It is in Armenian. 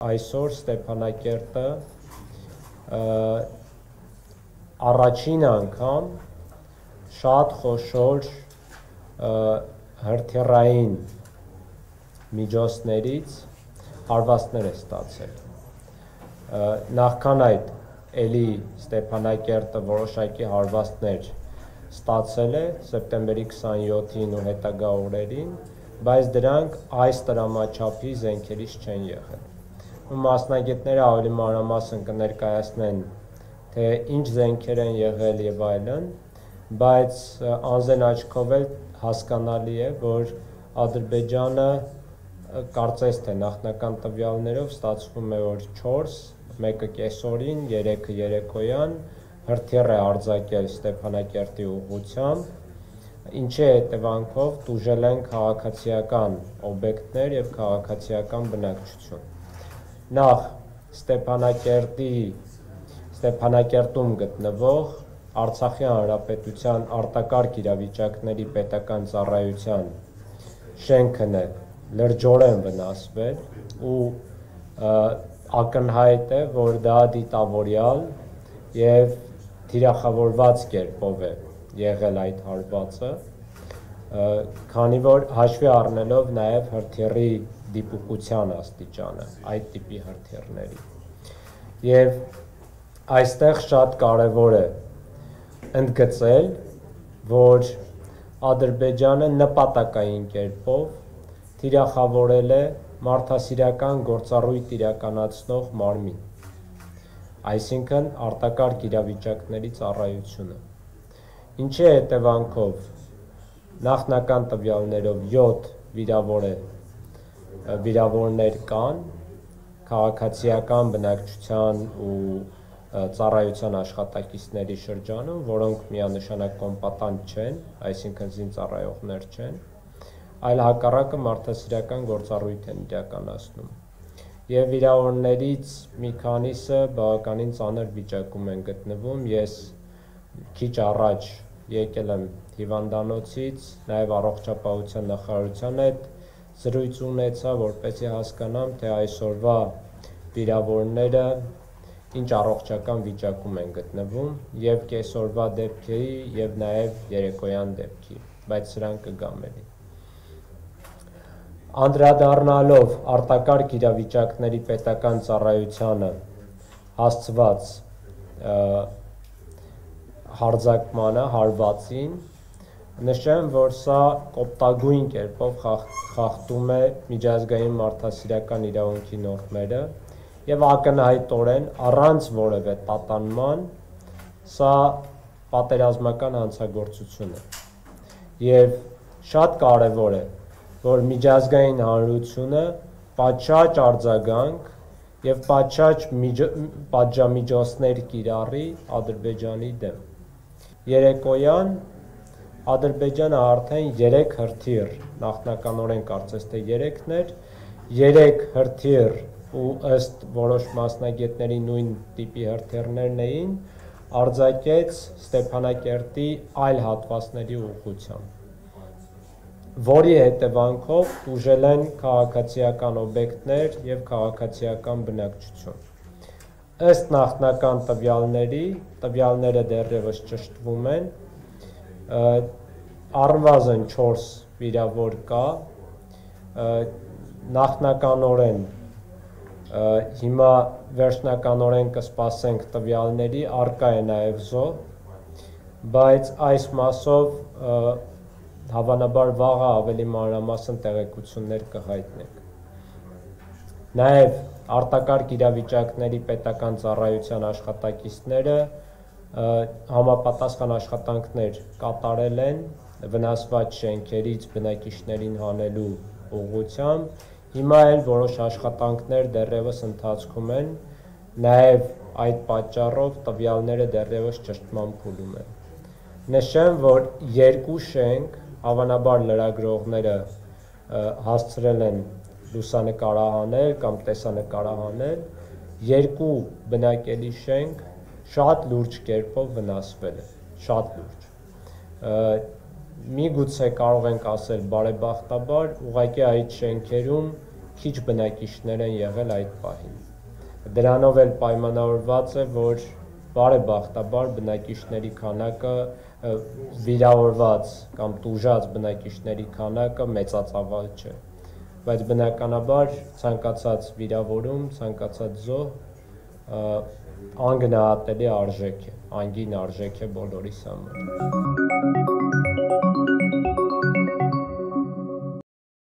Այսօր Ստեփանակերտը առաջին անգամ շատ խոշոր հրթիռային միջոցներից հարվածներ է ստացել։ Նախքան այդ էլի Ստեփանակերտը որոշակի հարվածներ ստացել է սեպտեմբերի 27-ին ու հետագա օրերին, բայց դրանք այս տրամաչափի զենքերից չեն եղել։ Մասնագետները ավելի մանրամասն կներկայացնեն, թե ինչ զենքեր են եղել եւ այլն, բայց անձեն աչքով էլ հասկանալի է, որ Ադրբեջանը կարծես թե նախնական տվյալներով ստացվում է, որ 4, մեկը կեսօրին, 3-ը երեկոյան հրթիռ է արձակել Ստեփանակերտի ուղղությամբ, ինչի հետևանքով տուժել են քաղաքացիական օբյեկտներ եւ քաղաքացիական բնակչություն։ Նախ Ստեփանակերտում գտնվող Արցախի Հանրապետության արտակարգ իրավիճակների պետական ծառայության շենքն է լրջորեն վնասվել ու ակնհայտ է, որ դա դիտավորյալ եւ թիրախավորված կերպով է եղել այդ հարվածը, քանի որ հաշվի առնելով նաեւ հրթիռի դիպուկության աստիճանը այդ տիպի հրթիռների։ Եվ այստեղ շատ կարևոր է ընդգծել, որ Ադրբեջանը նպատակային կերպով թիրախավորել է մարդասիրական գործառույթ իրականացնող մարմին, այսինքն արտակարգ իրավիճակների ծառայությունը, ինչի հետևանքով նախնական տվյալներով 7 վիրավորներ կան քաղաքացիական բնակչության ու ծառայության աշխատակիցների շրջանում, որոնք միանշանակ կոմպատանտ չեն, այսինքն զինծառայողներ չեն, այլ հակառակը մարդասիրական գործառույթ են իրականացնում։ Եվ վիրավորներից մի քանիսը բավականին ծանր վիճակում են գտնվում։ Ես քիչ առաջ եկել եմ հիվանդանոցից, նաև առողջապահության նախարարության հետ զրույց ունեցա, որպեսզի հասկանամ, թե այսօրվա վիրավորները ինչ առողջական վիճակում են գտնվում, եւ կեսօրվա դեպքի եւ նաեւ երեկոյան դեպքի, բայց սրանք կգամ էլի։ Անդրադառնալով արտակարգ իրավիճակների պետական ծառայությանը հասցված հարձակմանը, հարվածին, նշեմ, որ սա կոպտագույն կերպով խախտում է միջազգային մարդասիրական իրավունքի նորմերը եւ ակնհայտորեն առանց որևէ տատանման սա պատերազմական հանցագործություն է։ Եվ շատ կարեւոր է, որ միջազգային հանրությունը պատշաճ արձագանք եւ պատշաճ պատժամիջոցներ կիրառի Ադրբեջանի դեմ։ Երեկոյան Ադրբեջանը արդեն 3 հրթիռ, նախնականորեն կարծես թե 3-ն էր, 3 հրթիռ ու ըստ որոշ մասնագետների նույն տիպի հրթիռներն էին, արձակեց Ստեփանակերտի այլ հատվածների ուղղությամբ, որի հետևանքով տուժել են քաղաքացիական օբյեկտներ եւ քաղաքացիական բնակչություն։ Ըստ նախնական տվյալների, տվյալները դեռևս ճշտվում են, առնվազն 4 վիրավոր կա, նախնականորեն հիմա վերջնականորեն կսպասենք տվյալների, առկա է նաև զոհ, բայց այս մասով հավանաբար վաղը ավելի մանրամասն տեղեկություններ կհայտնենք։ Նաև արտակարգ իրավիճակների պետական ծառայության աշխատակիցները համապատասխան աշխատանքներ կատարել են վնասված շենքերից բնակիչներին հանելու ուղղությամբ, հիմա էլ որոշ աշխատանքներ դեռևս ընթացքում են, նաև այդ պատճառով տվյալները դեռևս ճշտման փուլում են։ Նշեմ, որ 2 շենք, հավանաբար լրագրողները հասցրել են լուսանկարահանել կամ տեսանկարահանել, 2 բնակելի շենք շատ լուրջ կերպով վնասվել է, շատ լուրջ։ Միգուցե կարող ենք ասել բարեբախտաբար, ուղղակի այդ շենքերում քիչ բնակիչներ են եղել այդ պահին։ Դրանով էլ պայմանավորված է, որ բարեբախտաբար բնակիչների քանակը վիրավորված կամ տուժած բնակիչների քանակը մեծածավալ չէ, բայց բնականաբար ցանկացած վիրավորում, ցանկացած զոհ անգնահատելի արժեք է, անգին արժեք է բոլորիս համար։